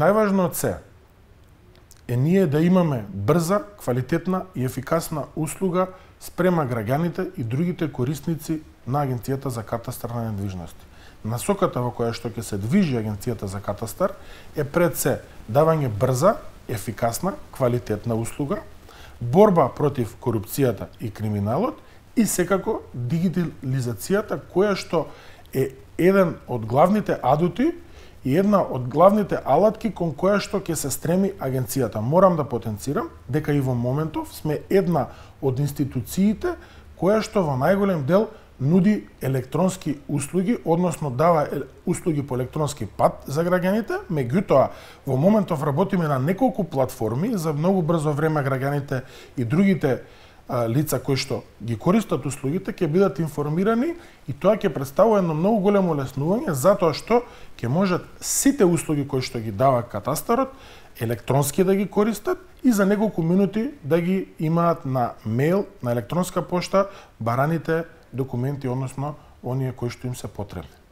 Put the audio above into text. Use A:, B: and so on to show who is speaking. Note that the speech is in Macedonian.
A: Најважно од се е ние да имаме брза, квалитетна и ефикасна услуга спрема граѓаните и другите корисници на Агенцијата за катастар на недвижности. Насоката во која што ќе се движи Агенцијата за катастар е пред се давање брза, ефикасна, квалитетна услуга, борба против корупцијата и криминалот и секако дигитализацијата која што е еден од главните адути и една од главните алатки кон која што ќе се стреми агенцијата. Морам да потенцирам дека и во моментов сме една од институциите која што во најголем дел нуди електронски услуги, односно дава услуги по електронски пат за граѓаните. Меѓутоа, во моментов работиме на неколку платформи за многу брзо време граѓаните и другите лица кои што ги користат услугите ќе бидат информирани и тоа ќе представува едно многу големо олеснување затоа што ќе можат сите услуги кои што ги дава катастарот електронски да ги користат и за неколку минути да ги имаат на мејл, на електронска пошта бараните документи, односно оние кои што им се потребни.